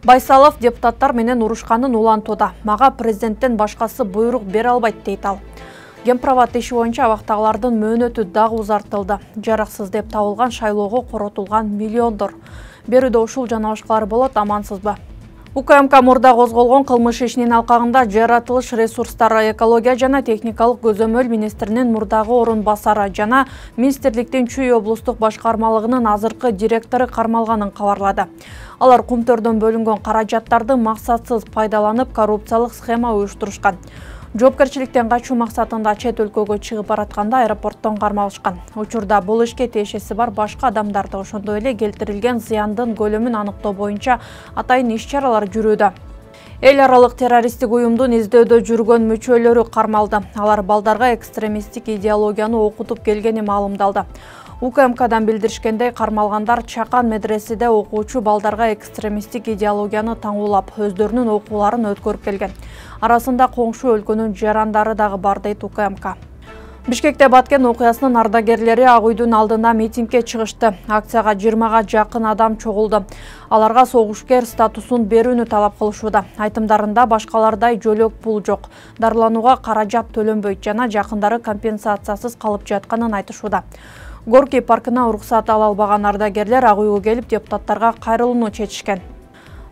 Байсалов депутаттар менен урушканын улантууда. Мага президенттен башкасы буйрук бере албайт дейт ал. Гемпроват иши боюнча абактагылардын мөөнөтү дагы узартылды. Жараксыз деп табылган шайлоого коротулган миллиондор. Берүүдө ушул жана башкалар болот, амансызбы? УКМК мурда козголгон кылмыш ишинин алкагында жаратылыш ресурстары, экология жана техникалык көзөмөл министринин мурдагы орун басары жана министрликтин Чүй облустук башкармалыгынын азыркы директору кармалганын кабарлады. Алар кумтөрдөн бөлүнгөн каражаттарды максатсыз пайдаланып, коррупциялык схема уюштурушкан. Жоопкерчиликтен качуу максатында чет өлкөгө чыгып баратканда аэропорттон кармалышкан. Учурда бул ишке тиешеси бар башка адамдарды, ошондой эле келтирилген зыяндын көлөмүн аныктоо боюнча атайын иш-чаралар жүрүүдө. Эл аралык террористтик уюмдун издөөдө жүргөн мүчөлөрү кармалды. Алар балдарга экстремисттик идеологияны окутуп келгени маалымдалды. УКМКдан билдиришкендей, кармалгандар Чакан медреседе окуучу балдарга экстремисттик идеологияны таңуулап, өздөрүнүн окууларын өткөрүп келген. Арасында коңшу өлкөнүн жарандары дагы бар дейт УКМК. Бишкекте Баткен окуясынын ардагерлери Ак үйдүн алдына митингге чыгышты. Акцияга 20га жакын адам чогулду. Аларга согушкер статусун берүүнү талап кылышууда. Айтымдарында башкалардай жөлөк пул жок, дарыланууга каражат төлөнбөйт жана жакындары компенсациясыз калып жатканын айтышууда. Горький паркына уруксат ала албаган ардагерлер Ак үйгө келип депутаттарга кайрылууну чечишкен.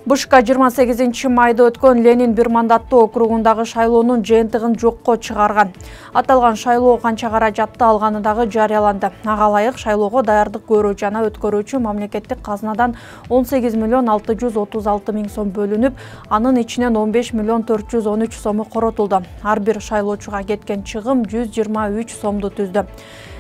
Бышка 28 майда өткөн Ленин бир мандаттуу округундагы шайлоонун жыйынтыгын жокко чыгарган. Аталган шайлоо канча каражатты алганы дагы жарыяланды. Ага ылайык шайлоого даярдык көрүү жана өткөрүүчү мамлекеттик казынадан 18 миллион 636 миң сом бөлүнүп, анын ичинен 15 миллион 413 сому коротулду. Ар бир шайлоочуга кеткен чыгым 123 сомду түздү.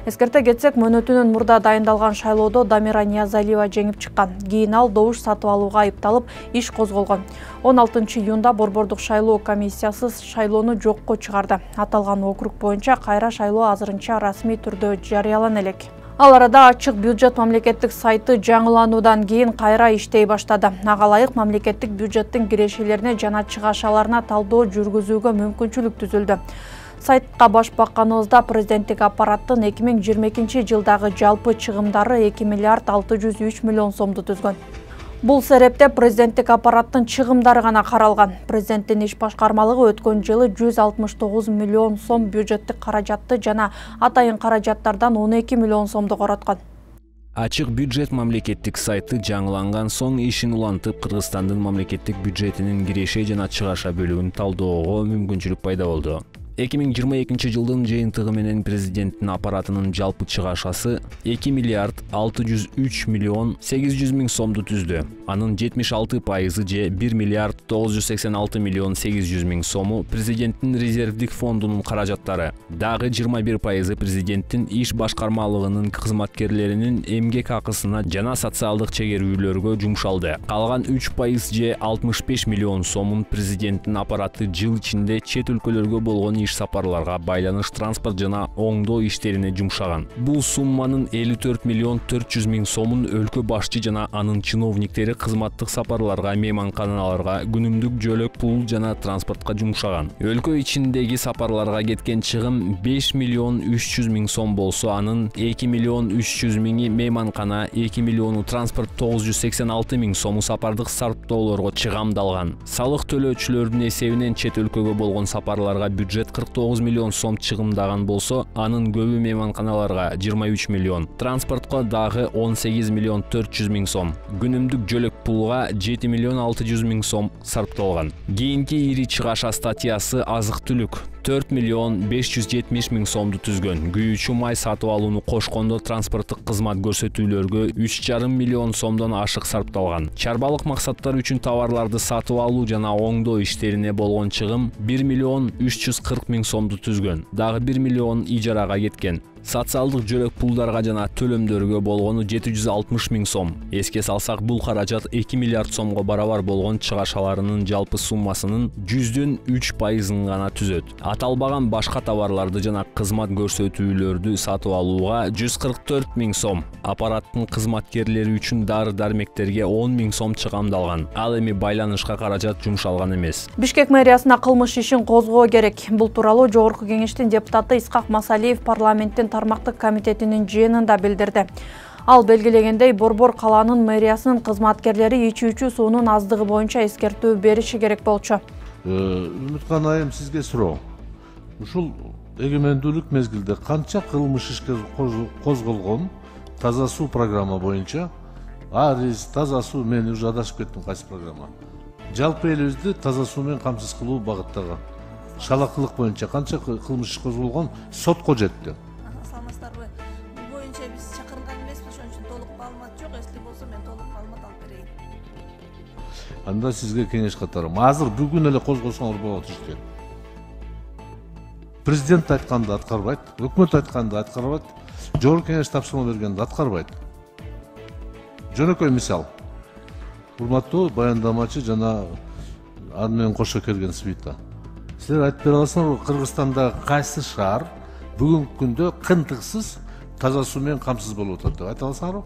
Эскерте кетсек, мөөнөтүнөн мурда дайындалган шайлоодо Дамира Ниязалиева жеңип чыккан. Кийин ал добуш сатып алууга айыпталып, иш козголгон. 16 июнда Борбордук шайлоо комиссиясы шайлоону жокко чыгарды. Аталган округ боюнча кайра шайлоо азырынча расмий түрдө жарыялана элек. Ал арада ачык бюджет мамлекеттик сайты жаңылануудан кийин кайра иштей баштады. Ага ылайык мамлекеттик бюджеттин кирешелерине жана чыгашаларына талдоо жүргүзүүгө мүмкүнчүлүк түзүлдү. Сайтка баш бакканыбызда президенттик аппараттын 2022 жылдагы жалпы чыгымдары 2 миллиард 603 миллион сомду түзгөн. Бул серепте президенттик аппараттын чыгымдары гана каралган. Президенттин иш башкармалыгы өткөн жылы 169 миллион сом бюджеттик каражатты жана атайын каражаттардан 12 миллион сомду короткон. Ачык бюджет мамлекеттик сайты жаңыланган соң ишин улантып, Кыргызстандын мамлекеттик бюджетинин киреше жана чыгаша бөлүгүн талдөөгө мүмкүнчүлүк пайда болду. 2022 жылдын жыйынтыгы менен президенттин аппаратынын жалпы чыгашасы 2 миллиард 603 миллион 800 миң сомду түздү. Анын 76% же 1 миллиард 986 миллион 800 миң сому президенттин резервдик фондунун каражаттары. Дагы 21% президенттин иш башкармалыгынын кызматкерлеринин эмгек акысына жана социалдык чегерүүлөргө жумшалды. Калган 3% же 65 миллион сомун президенттин аппараты жыл ичинде чет өлкөлөргө болгон иш сапарларга байланыш, транспорт жана оңдоо иштерине жумшаган. Бул сумманын 54 миллион 400 миң сомун өлкө башчы жана анын чиновниктери кызматтык сапарларга, мейманканаларга, күнүмдүк жөлөк пул жана транспортко жумшаган. Өлкө ичиндеги сапарларга кеткен чыгым 5 миллион 300 миң сом болсо, анын 2 миллион 300 миңи мейманкана, 2 миллиону транспорт, 986 миң сому сапардык сарптоолорго чыгамдалган. Салык төлөөчүлөрдүн эсебинен чет өлкөгө болгон сапарларга бюджет 49 миллион сом чыгымдаган болсо, анын көбү мейманканаларга 23 миллион, транспортко дагы 18 миллион 400 миң сом, күнүмдүк жөлөк пулга 7 миллион 600 миң сом сарпталган. Кийинки ири чыгаша статьясы азык-түлүк 4 миллион 570 миң сомду түзгөн. Күйүүчү май сатып алууну кошкондо транспорттук кызмат көрсөтүүлөргө 3,5 миллион сомдон ашык сарпталган. Чарбалык максаттар үчүн товарларды сатып алуу жана оңдоо иштерине болгон чыгым 1 миллион 340 миң сомду түзгөн. Дагы 1 миллион ижарага кеткен. Социалдык жөлөк пулдарга жана төлөмдөргө болгону 760 миң сом. Эске салсак, бул каражат 2 миллиард сомго барабар болгон чыгашаларынын жалпы суммасынын 100% гана түзөт. Аталбаган башка товарларды жана кызмат көрсөтүүлөрдү сатып алууга 144 миң сом. Аппараттын кызматкерлери үчүн дары-дармектерге 10 миң сом чыгамдалган. Ал эми байланышка каражат жумшалган эмес. Бишкек мэриясына кылмыш ишин козгоо керек. Бул тууралуу Жогорку кеңештин депутаты Исхак Масалиев парламенттин тармактык комитетинин жыйынында билдирди. Ал белгилегендей, Борбор калаанын мэриясынын кызматкерлери ичүүчү суунун аздыгы боюнча эскертүү бериши керек болчу. Үмүткан айым, сизге суроо. Ушул эгемендүүлүк мезгилде канча кылмыш ишке козголгон таза суу программа боюнча? Арис, таза суу, мен уже адашып кеттим, кайсы программа? Жалпы элибизди таза суу менен камсыз кылуу багыттагы шалакылык боюнча канча кылмыш иш козголгон, сотко жетти? Саламатсыздарбы? Бул боюнча биз чакырган эмеспиз, ошон үчүн толук маалымат жок. Если болсо мен толук маалымат алып берейин. Анда сизге кеңеш катарым. Азыр бүгүн эле козгосоңор болот ишти. Президент айтканды аткарбайт, өкмөт айтканды аткарбайт, жогорку кеңеш тапшырма бергенди аткарбайт. Жөнөкөй мисал. Урматтуу баяндамачы жана аны менен кошо келген свита. Силер айтып бере аласыңарбы, Кыргызстанда кайсы шаар бүгүнкү күндө кынтыксыз таза суу менен камсыз болуп атат деп айта аласыңарбы?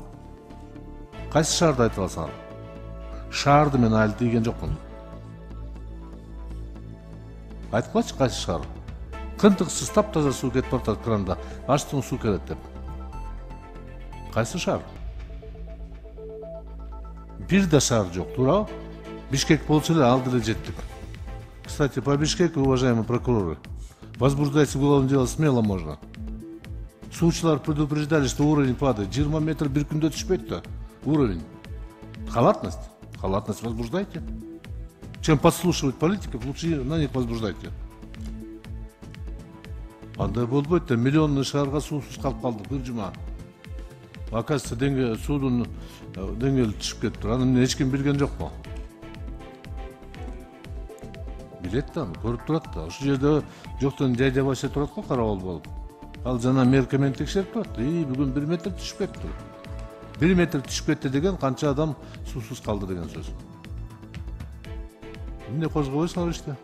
Кайсы шаарды айта аласыңар? Шаарды мен айыл тийген жокмун. Айткылачы, кайсы шаар? Кынтыксыз таптаза суу кетип атат кранда, ачтың суу келет деп. Кайсы шаар? Бир да шаар жок, туурабы? Бишкек болчу эле, ал деле жеттик. Кстати, по Бишкеку, уважаемые прокуроры, возбуждайте уголовное дело смело можно. Суучулар предупреждали, что уровень падает. 20 метров бир күндө түшпөйт да. Уровень. Халатность. Халатность возбуждайте. Чем подслушивать политиков, лучше на них возбуждайте. Андай болбойт да, миллионный шаарга суусуз калып калдык бир жума. Оказывается, суудун деңгээли түшүп кетти. Аны эч ким билген жокпу? Билет да, көрүп турат да. Ошол жерде жоктон жайда башы турат го, карабал болуп. Ал жана мерка менен текшерип турат. Бүгүн 1 метр түшүп кетти. 1 метр түшүп кетти деген канча адам суусуз калды деген сөз. Эмне козгобойсуңар иште?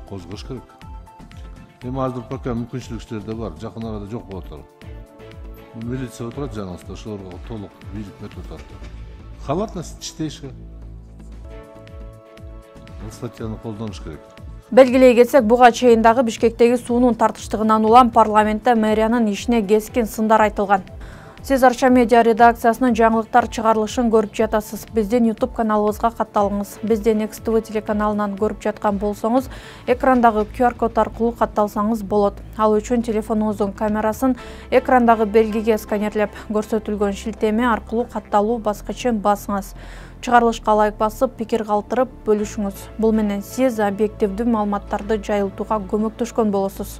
Козгош керек. Эми азыр пока мүмкүнчүлүктөр да бар, жакын арада жок болот атат. Милиция отурат жаныңызда, ошолорго толук бийлик өтүп атат. Халатность чистейшая. Бул статьяны колдонуш керек. Белгилей кетсек, буга чейин дагы Бишкектеги суунун тартыштыгынан улам парламентте мэриянын ишине кескин сындар айтылган. Сиз Арча медиа редакциясынын жаңылыктар чыгарылышын көрүп жатасыз. Биздин YouTube каналыбызга катталыңыз. Бизден Next TV телеканалынан көрүп жаткан болсоңуз, экрандагы QR код аркылуу катталсаңыз болот. Ал үчүн телефонуңуздун камерасын экрандагы белгиге сканерлеп, көрсөтүлгөн шилтеме аркылуу катталуу баскычын басыңыз. Чыгарылышка лайк басып, пикир калтырып бөлүшүңүз. Бул менен сиз объективдүү маалыматтарды жайылтууга көмөктөшкөн болосуз.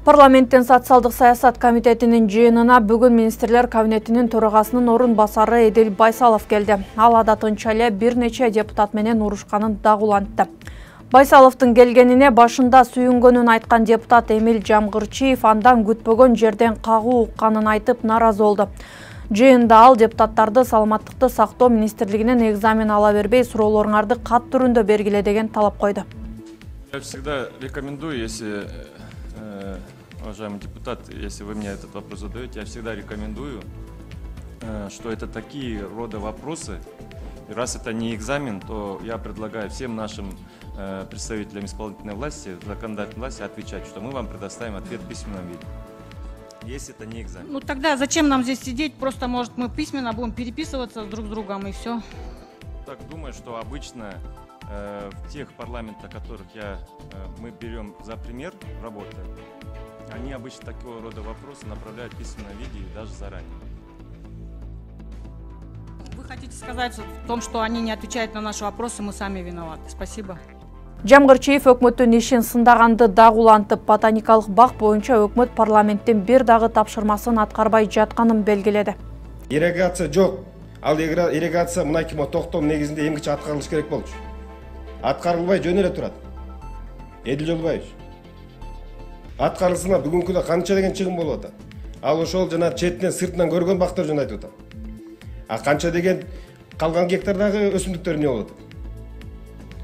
Парламенттин социалдык саясат комитетинин жыйынына бүгүн министрлер кабинетинин төрагасынын орун басары Эдил Байсалов келди. Ал адатынча эле бир нече депутат менен урушканын дагы улантты. Байсаловдун келгенине башында сүйүнгөнүн айткан депутат Эмил Жамгырчиев андан күтпөгөн жерден кагуу укканын айтып наразы болду. Жыйында ал депутаттарды саламаттыкты сактоо министрлигинен экзамен ала бербей, суроолоруңарды кат түрүндө бергиле деген талап койду. Я всегда рекомендую, если, уважаемый депутат, если вы мне этот вопрос задаете, я всегда рекомендую, что это такие рода вопросы. И раз это не экзамен, то я предлагаю всем нашим представителям исполнительной власти, законодательной власти отвечать, что мы вам предоставим ответ в письменном виде. Если это не экзамен. Ну тогда зачем нам здесь сидеть? Просто, может, мы письменно будем переписываться друг с другом и все. Так думаю, что обычно в тех парламентах, которых мы берем за пример работы, они обычно такого рода вопросы направляют в письменном виде и даже заранее. Вы хотите сказать в том, что они не отвечают на наши вопросы, мы сами виноваты. Спасибо. Жамгырчиев өкмөттүн ишин сындаганды дагы улантып, ботаникалык бак боюнча өкмөт парламенттин бир дагы тапшырмасын аткарбай жатканын белгиледи. Ирригация жок. Ал ирригация мынакей токтоо негизинде эмгиче аткарылыш керек болчу. Аткарылбай жөн эле турат. Эдил Жолбаевич. Аткарылсына бүгүнкү күндө канча деген чыгым болуп атат. Ал ошол жана четинен сыртынан көргөн бактар жөнүндө айтып атат. А канча деген калган гектардагы өсүмдүктөр эмне болуп атат?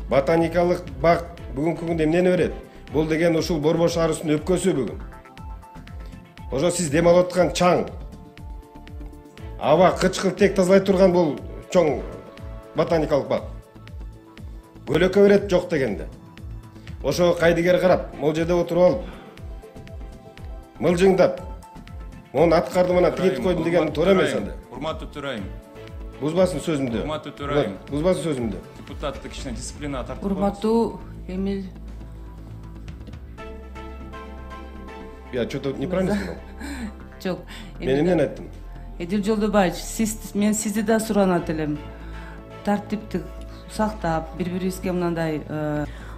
Ботаникалык бак бүгүнкү күндө эмнени берет? Бул деген ушул Борбор шаарынын өпкөсү бүгүн. Ошо сиз дем алып аткан чаң, аба кычкыл тек тазалай турган бул чоң ботаникалык бак. Көлөкө берет жок дегенде. Ошо кайдыгер карап, могул жерде отуруп алып, мылжыңдап, Монун аткардым анан тигинтип койдум деген туура эмес анда. Урматтуу төрайым. Бузбасын сөзүмдү. Урматтуу төрайым. Бузбасын сөзүмдү. Депутатты кичине дисциплинага тартып. Урматтуу Эмил. Я что-то неправильно сказал? Жок. Мен эмнени айттым? Эдил Жолдобаевич, мен сизди да суранат элем. Тартипти сактап, бири-бирибизге мындай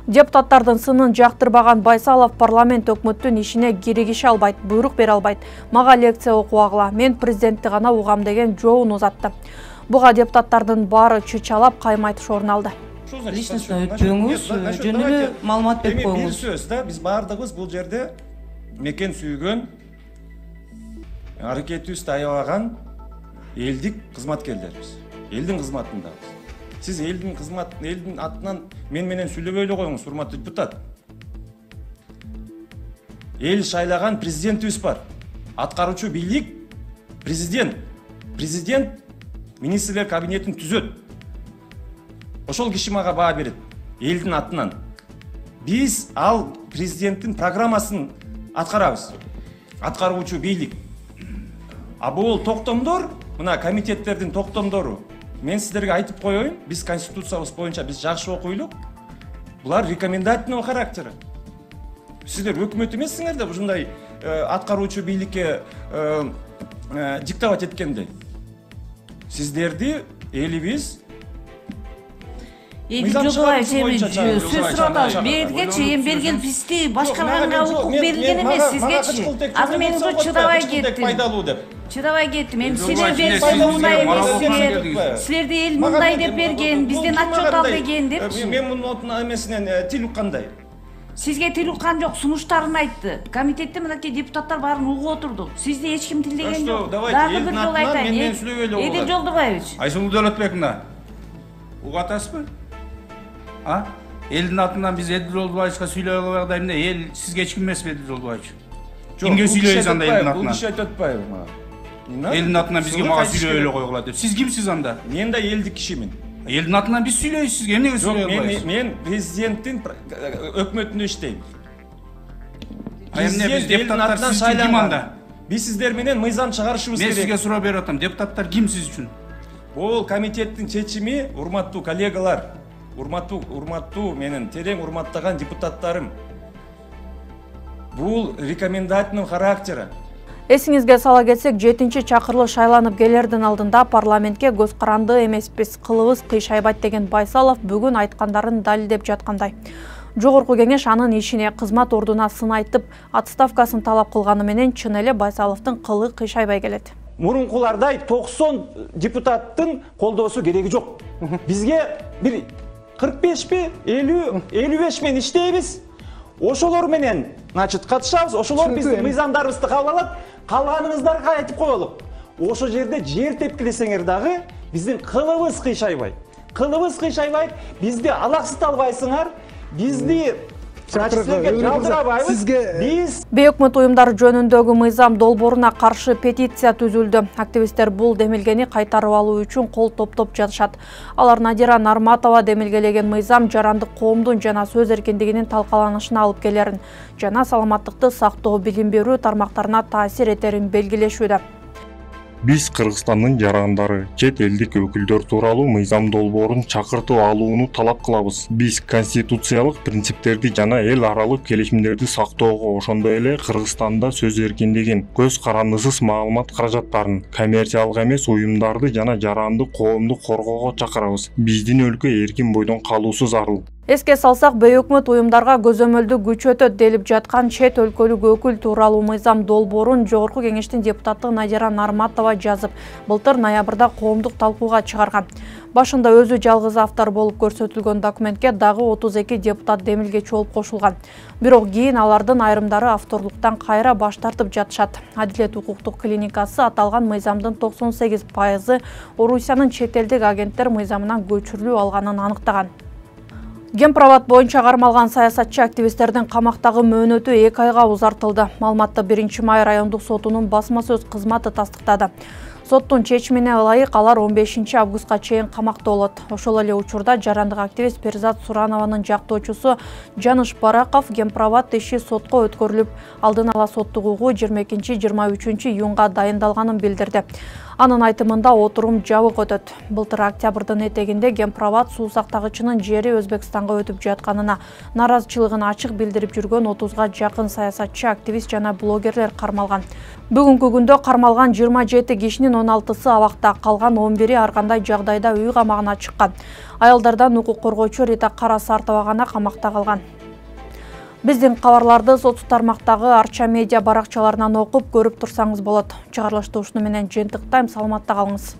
Депутаттардын сынын жактырбаган Байсалов парламент өкмөттүн ишине киригише албайт, буйрук бере албайт. Мага лекция окубагыла, мен президентти гана угам деген жообун узатты. Буга депутаттардын баары чычалап каймайтыш орун алды. личностно өтпөңүз, жөн эле маалымат берип Бир коюңуз. сөз да, биз баардыгыбыз бул жерде мекен сүйгөн, аракетибизди аябаган элдик кызматкерлербиз. Элдин кызматындабыз. Сиз элдин атынан мен менен сүйлөбөй эле коюңуз, урматтуу депутат. Эл шайлаган президентибиз бар. Аткаруучу бийлик президент. Президент министрлер кабинетин түзөт. Ошол киши мага баа берет элдин атынан. Биз ал президенттин программасын аткарабыз. Аткаруучу бийлик. А бул токтомдор, мына комитеттердин токтомдору. Мен сиздерге айтып коеюн, биз конституциябыз боюнча биз жакшы окуйлук. Булар рекомендательный характери. Сиздер өкмөт эмессиңер да ушундай аткаруучу бийликке диктовать эткенде. Сиздерди элибиз Эдил Жолдобаевич, сөз сурап бергечи, эми берген бизди башкарганга укук берилген эмес сизгечи. Азыр мен уже чыдабай кеттим. Пайдалуу деп. Чыдабай кеттим. Эми силер берген мындай эмес. Силерди эл мындай деп берген, бизден отчет ал деген депчи. Мен мунун эмесинен тил уккандай. Сизге тил уккан жок, сунуштарын айтты. Комитетте мынакей депутаттар баарын угуп отурду. Сизди эч ким тилдеген жок. Дагы бир жолу айтайын. Эдил Жолдобаевич. Айсулуу Дөөлөтбековна, угатасызбы? Элдин атынан биз Эдил Жолдобаевичка сүйлөй албайбыз эмне? Эл сизге эч ким эмеспи Эдил Жолдобаевич? Кимге сүйлөйбүз анда элдин атынан? Бул киши айтып атпайбы мага? Элдин атынан бизге мага сүйлөй эле койгула деп. Сиз кимсиз анда? Мен да элдик кишимин. Элдин атынан биз сүйлөйбүз сизге, эмнеге сүйлөй албайбыз? Мен президенттин өкмөтүндө иштейм. Эмне биз депутаттар сиз үчүн ким анда? Биз сиздер менен мыйзам чыгарышыбыз керек. Мен сизге суроо берип атам, депутаттар ким сиз үчүн? Бул комитеттин чечими, урматтуу коллегалар, урматтуу менин терең урматтаган депутаттарым. Бул рекомендательный характери. Эсиңизге сала кетсек, 7-чакырылыш шайланып келердин алдында парламентке көз каранды эмеспиз, кылыбыз кыйшайбайт деген Байсалов бүгүн айткандарын далилдеп жаткандай. Жогорку кеңеш анын ишине, кызмат ордуна сын айтып, отставкасын талап кылганы менен чын эле Байсаловдун кылы кыйшайбай келет. Мурункулардай 90 депутаттын колдоосу кереги жок. Бизге бир 45 50 55 менен иштейбиз. Ошолор менен катышабыз, ошолор биздин мыйзамдарыбызды кабыл алат. Калганыңыздарга айтып коелу. Ошо жерде жер тепкилесеңер дагы биздин кылыбыз кыйшайбайт. Кылыбыз кыйшайбайт, бизди алаксыта албайсыңар. Бизди биз Бейөкмөт уюмдар жөнүндөгү мыйзам долбооруна каршы петиция түзүлдү. Активисттер бул демилгени кайтарып алуу үчүн кол топтоп жатышат. Алар Надира Нарматова демилгелеген мыйзам жарандык коомдун жана сөз эркиндигинин талкаланышына алып келерин жана саламаттыкты сактоо, билим берүү тармактарына таасир этерин белгилешүүдө. Биз Кыргызстандын жарандары, чет элдик өкүлдөр тууралуу мыйзам долбоорун чакыртып алууну талап кылабыз. Биз конституциялык принциптерди жана эл аралык келишимдерди сактоого, ошондой эле Кыргызстанда сөз эркиндигин, көз карандысыз маалымат каражаттарын, коммерциялык эмес уюмдарды жана жарандык коомду коргоого чакырабыз. Биздин өлкө эркин бойдон калуусу зарыл. Эске салсак, бейөкмөт уюмдарга көзөмөлдү күчөтөт делип жаткан чет өлкөлүк өкүл тууралуу мыйзам долбоорун Жогорку кеңештин депутаты Надира Нарматова жазып, былтыр ноябрда коомдук талкууга чыгарган. Башында өзү жалгыз автор болуп көрсөтүлгөн документке дагы 32 депутат демилгечи болуп кошулган. Бирок кийин алардын айрымдары авторлуктан кайра баш тартып жатышат. Адилет укуктук клиникасы аталган мыйзамдын 98% Орусиянын чет элдик агенттер мыйзамынан көчүрүлүп алганын аныктаган. Гемпровод боюнча кармалган саясатчы активисттердин камактагы мөөнөтү 2 айга узартылды. Маалыматты 1 май райондук сотунун басма сөз кызматы тастыктады. Соттун чечимине ылайык алар 15 августка чейин камакта болот. Ошол эле учурда жарандык активист Перизат Суранованын жактоочусу Жаныш Бараков Гемпроват иши сотко өткөрүлүп, алдын ала соттук угуу 22-23 июнга дайындалганын билдирди. Анын айтымында отурум жабык өтөт. Былтыр октябрдын этегинде Гемпроват суу сактагычынын жери Өзбекстанга өтүп жатканына наразычылыгын ачык билдирип жүргөн 30га жакын саясатчы, активист жана блогерлер кармалган. Бүгүнкү күндө кармалган 27 кишинин 16сы абакта, калган 11-и ар кандай жагдайда үй камагына чыккан. Аялдардан укук коргоочу Рита Карасартова гана камакта калган. Биздин кабарларды соц тармактагы Арча медиа баракчаларынан окуп көрүп турсаңыз болот. Чыгарылышты ушуну менен жыйынтыктайм, саламатта калыңыз.